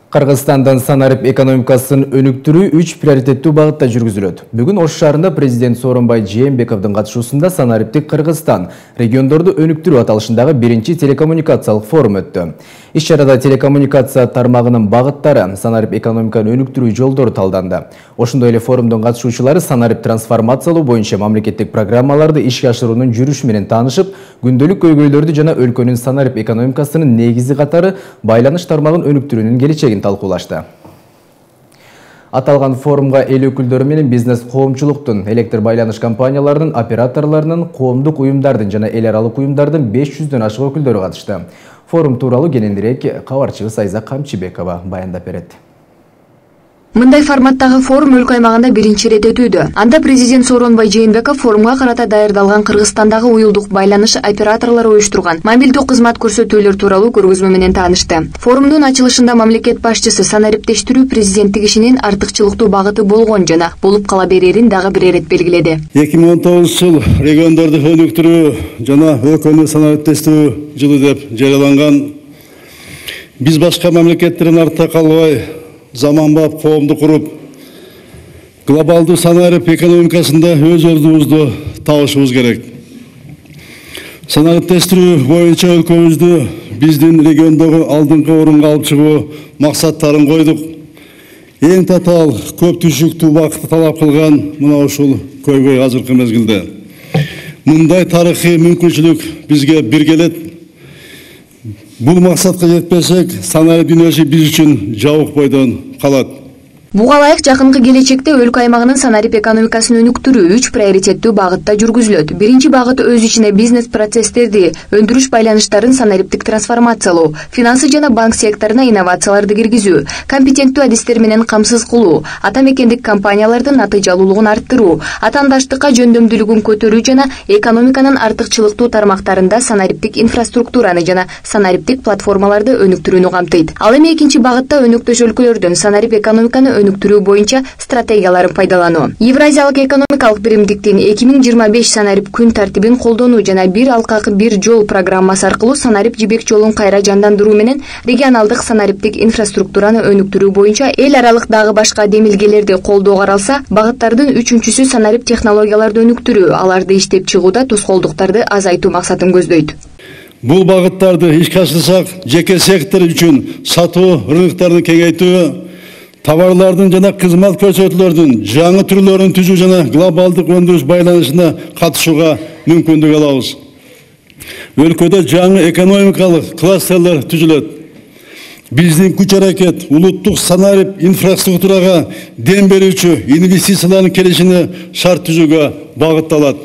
Кыргызстандын санарип экономикасын өнүктүрүү 3 приоритеттүү багытта жүргүзүлөт. Бүгүн Ош шаарында президент Сооронбай Жээнбековдун катышуусунда санариптик Кыргызстан региондорду өнүктүрүү аталышындагы биринчи телекоммуникациялык форум өттү. Иш чарада телекоммуникация тармагынын багыттары, санарип экономиканы өнүктүрүү жолдору талданды. Ошондой эле форумдун катышуучулары санарип трансформациялоо боюнча мамлекеттик программаларды ишке ашыруунун жүрүшү менен таанышып, күндөлүк көйгөйлөрдү жана өлкөнүн санарип экономикасынын негизи катары байланыш тармагын өнүктүрүүнүн келечегин талкуулашты. Аталган форумга эл өкүлдөрү менен бизнес коомчулуктун, электр байланыш компанияларынын, операторлорунун, коомдук уюмдардын жана эл аралык уюмдардын 500дөн ашык өкүлдөрү катышты. Форум тууралуу кененирээк кабарчыбыз Айза Камчыбекова баяндап берет. Мындай форматтагы форум өлкө аймагында биринчи ирет өтүүдө. Анда президент Сооронбай Жээнбеков форумга карата даярдалган Кыргызстандагы уюлдук байланыш операторлору уюштурган мобилдүү кызмат көрсөтүүлөр тууралуу көргөзмө менен таанышты. Форумдун ачылышында мамлекет башчысы санариптештирүү президенттик ишинин артыкчылыктуу багыты болгон жана болуп кала берерин дагы бир ирет белгиледи. 2019 жыл региондорду өнүктүрүү жана өлкөнү санариптештирүү жылы деп жарыяланган. Биз башка мамлекеттерден артта калбай заманбап коомду куруп, глобалдуу санарип экономикасында өз ордубузду табышыбыз керек. Санариптештирүү боюнча өлкөбүздү биздин региондогу алдыңкы орунга алып чыгуу максаттарын койдук. Эң татаал көп түшүктүү убакытты талап кылган мына ушул көйгөй азыркы мезгилде. Мындай тарыхый мүмкүнчүлүк бизге бир келет. Бул максатка жетпесек, санарип дүйнөсү биз үчүн жабык бойдон калат. Буга ылайык жакынкы келечекте өлкө аймагынын санарип экономикасын өнүктүрүү 3 приоритеттүү багытта жүргүзүлөт. Биринчи багыты өз ичине бизнес процесстерди, өндүрүш байланыштарын санариптик трансформациялоо, финансы жана банк секторуна инновацияларды киргизүү, компетенттүү адистер менен камсыз кылуу, ата мекендик компаниялардын натыйжалуулугун арттыруу, атаандаштыкка жөндөмдүүлүгүн көтөрүү жана экономиканын артыкчылыктуу тармактарында санариптик инфраструктураны жана санариптик платформаларды өнүктүрүүнү камтыйт. Ал эми экинчи багытта өнөктөш өлкөлөрдүн санарип экономиканы өнүктүрүү боюнча стратегияларын пайдалануу. Евразиялык экономикалык биримдиктин 2025 санарип күн тартибин колдонуу жана бир алкак бир жол программасы аркылуу санарип жибек жолун кайра жандандыруу менен регионалдык санариптик инфраструктураны өнүктүрүү боюнча эл аралык дагы башка демилгелерди колдоо каралса, багыттардын үчүнчүсү санарип технологияларды өнүктүрүү, аларды иштеп чыгууда тоскоолдуктарды азайтуу максатын көздөйт. Бул багыттарды ишке ашырсак, жеке сектор үчүн сатуу рыноктарын кеңейтүү, товарлардын жана кызмат көрсөтүүлөрдүн жаңы түрлөрүн түзүү жана глобалдык өндүрүш байланышына катышууга мүмкүндүк алабыз. Өлкөдө жаңы экономикалык кластерлер түзүлөт. Биздин күч аракет улуттук санарип инфраструктурага дем берүүчү инвестициялардын келишине шарт түзүүгө багытталат.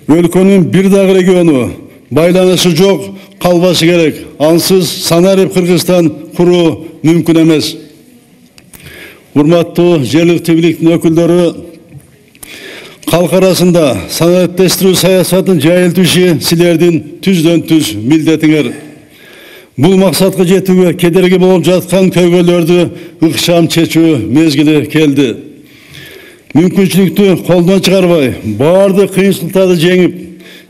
Өлкөнүн бир дагы региону байланышы жок калбашы керек. Ансыз санарип Кыргызстан куруу мүмкүн эмес. Урматтуу жергиликтүү бийликтин өкүлдөрү, калк арасында санариптештирүү саясатын жайылтуу иши силердин түздөн түз милдетиңер. Бул максатка жетүүгө кедерги болуп жаткан көйгөйлөрдү ыкчам чечүү мезгили келди. Мүмкүнчүлүктү колдон чыгарбай, баардык кыйынчылыктарды жеңип,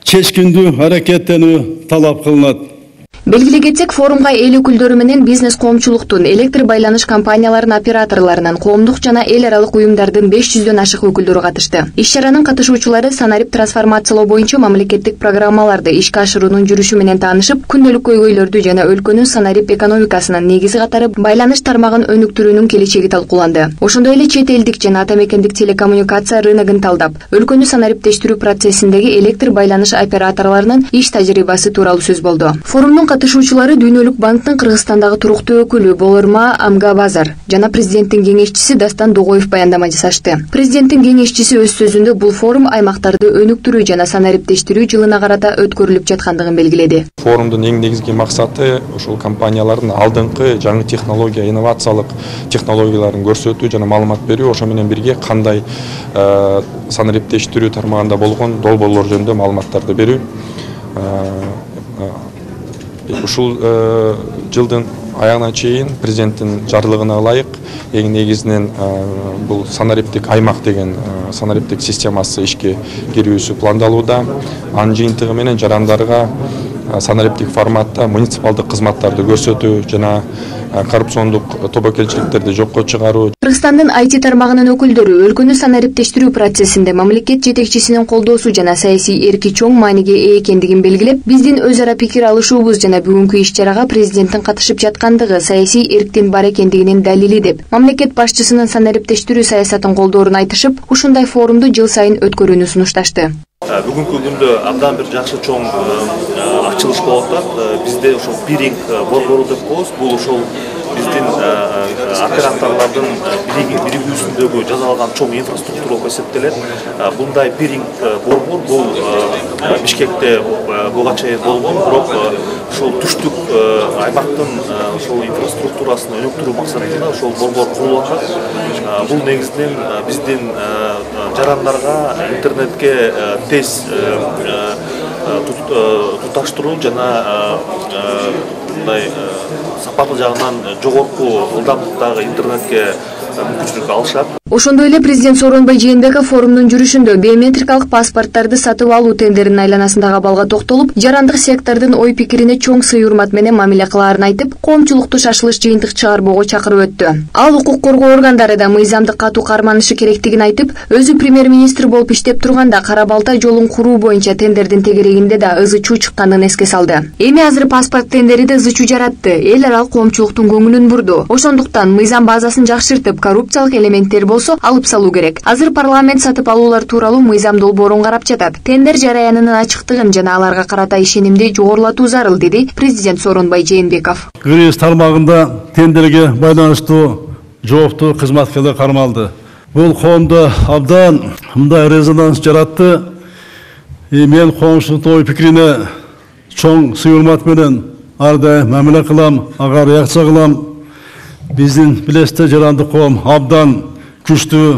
чечкиндүү аракеттенүү талап кылынат. Белгилей кетсек, форумга эл өкүлдөрү менен бизнес коомчулуктун, электр байланыш компанияларынын операторлорунан, коомдук жана эл аралык уюмдардын 500дөн ашык өкүлдөрү катышты. Иш чаранын катышуучулары санарип трансформациялоо боюнча мамлекеттик программаларды ишке ашыруунун жүрүшү менен таанышып, күндөлүк көйгөйлөрдү жана өлкөнүн санарип экономикасынын негизи катары байланыш тармагын өнүктүрүүнүн келечеги талкууланды. Ошондой эле чет элдик жана ата мекендик телекоммуникация рыногун талдап, өлкөнү санариптештирүү процессиндеги электр байланыш операторлорунун иш тажрыйбасы тууралуу сөз болду. Форумдун катышуучулары Дүйнөлүк банктын Кыргызстандагы туруктуу өкүлү Болорма Амгабазар жана президенттин кеңешчиси Дастан Догоев баяндама жасашты. Президенттин кеңешчиси өз сөзүндө бул форум аймактарды өнүктүрүү жана санариптештирүү жылына карата өткөрүлүп жаткандыгын белгиледи. Форумдун эң негизги максаты ушул компаниялардын алдыңкы жаңы технология, инновациялык технологияларын көрсөтүү жана маалымат берүү, ошо менен бирге кандай санариптештирүү тармагында болгон долбоорлор жөнүндө маалыматтарды берүү. Ушул жылдын аягына чейин президенттин жарлыгына ылайык эң негизинен бул санариптик аймак деген санариптик системасы ишке кирүүсү пландалууда. Анын жыйынтыгы менен жарандарга санариптик форматта муниципалдык кызматтарды көрсөтүү жана коррупциондук тобокелчиликтерди жокко чыгаруу. Кыргызстандын IT тармагынын өкүлдөрү өлкөнү санариптештирүү процессинде мамлекет жетекчисинин колдоосу жана саясий эрки чоң мааниге ээ экендигин белгилеп, биздин өз ара пикир алышуубуз жана бүгүнкү иш-чарага президенттин катышып жаткандыгы саясий эрктин бар экендигинин далили деп, мамлекет башчысынын санариптештирүү саясатын колдоорун айтышып, ушундай форумду жыл сайын өткөрүүнү сунушташты. Бүгүнкү күндө абдан бир жакшы чоң ачылыш болуп атат. Бизде ошол биринг борбору деп коебуз. Бул ошол биздин операторлордун биригүүсүндөгү жасалган чоң инфраструктура болуп эсептелет. Мындай биринг борбор бул Бишкекте буга чейин болгон, бирок ошол түштүк аймактын ошол инфраструктурасын өнүктүрүү максатында ошол борбор курулуп атат. Бул негизинен биздин жарандарга интернетке тез туташтыруу жана мындай сапаты жагынан жогорку ылдамдыктагы интернетке мүмкүнчүлүк алышат. Ошондой эле президент Сооронбай Жээнбеков форумдун жүрүшүндө биометрикалык паспорттарды сатып алуу тендеринин айланасындагы абалга токтолуп, жарандык сектордун ой пикирине чоң сый-урмат менен мамиле кылаарын айтып, коомчулукту шашылыш жыйынтык чыгарбоого чакырып өттү. Ал укук коргоо органдары да мыйзамды катуу карманышы керектигин айтып, өзү премьер-министр болуп иштеп турганда Кара Балтай жолун куруу боюнча тендердин тегерегинде да ызы чуу чыкканын эске салды. Эми азыр паспорт тендери да ызы чуу жаратты, эл аралык коомчулуктун көңүлүн бурду. Ошондуктан мыйзам базасын жакшыртып, коррупциялык элементтер болсо алып салуу керек. Азыр парламент сатып алуулар тууралуу мыйзам долбоорун карап жатат. Тендер жараянынын ачыктыгын жана аларга карата ишенимди жогорулатуу зарыл, деди президент Сооронбай Жээнбеков. Кыргыз тармагында тендерге байланыштуу жооптуу кызматкерлер кармалды. Бул коомдо абдан мындай резонанс жаратты. Мен коомчулуктун ой пикирине чоң сый-урмат менен ар дайым мамиле кылам, ага реакция кылам. Биздин билесиздер жарандык коом абдан күчтүү,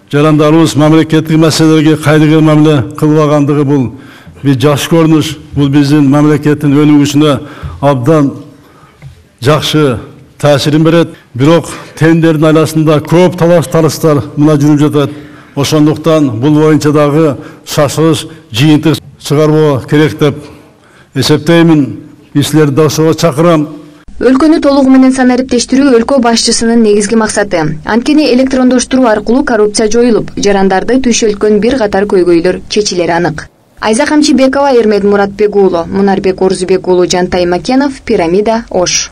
жарандарыбыз мамлекеттик маселелерге кайдыгер мамиле кылбагандыгы бул бир жакшы көрүнүш. Бул биздин мамлекеттин өнүгүшүнө абдан жакшы таасирин берет. Бирок тендердин айласында көп талаш-тарыштар мына жүрүп жатат. Ошондуктан бул боюнча дагы шашылыш жыйынтык чыгарбоо керек деп эсептеймин. Силерди да ошого чакырам. Өлкөнү толугу менен санариптештирүү өлкө башчысынын негизги максаты. Анткени электрондоштуруу аркылуу коррупция жоюлуп, жарандарды түйшөлткөн бир катар көйгөйлөр чечилери анык. Айза Камчыбекова, Эрмет Муратбек уулу, Мунарбек Орзубек уулу, Жантай Макенов, Пирамида, Ош.